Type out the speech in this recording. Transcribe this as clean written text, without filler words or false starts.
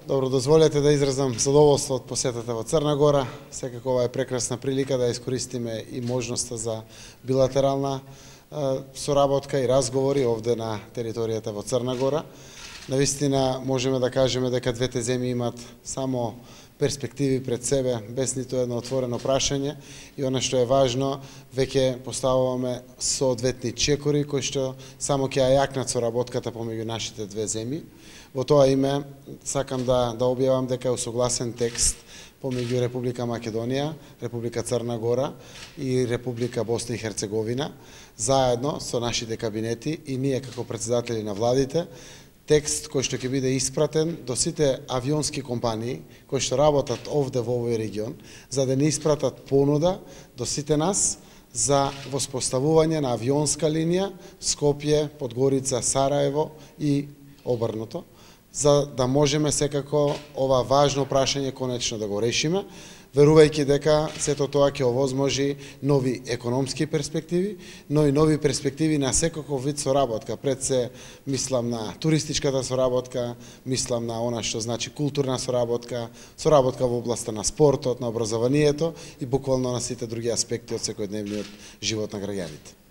Добро, дозволете да изразам задоволство од посетата во Црна Гора. Секако ова е прекрасна прилика да искористиме и можноста за билатерална соработка и разговори овде на територијата во Црна Гора. Навистина можеме да кажеме дека двете земји имат само перспективи пред себе, без ниту едно отворено прашање, и она што е важно, веќе поставуваме соодветни чекори кои што само ќе ја јакнат соработката помеѓу нашите две земји. Во тоа име сакам да објавам дека е усогласен текст помеѓу Република Македонија, Република Црна Гора и Република Босна и Херцеговина, заедно со нашите кабинети и ние како претседатели на владите, текст кој што ќе биде испратен до сите авионски компании кои што работат овде во овој регион, за да не испратат понуда до сите нас за воспоставување на авионска линија Скопје, Подгорица, Сараево и обрнато, за да можеме секако ова важно прашање конечно да го решиме, верувајќи дека сето тоа ќе овозможи нови економски перспективи, но и нови перспективи на секаков вид соработка. Пред се мислам на туристичката соработка, мислам на она што значи културна соработка, соработка во областа на спортот, на образованието и буквално на сите други аспекти од секојдневниот живот на граѓаните.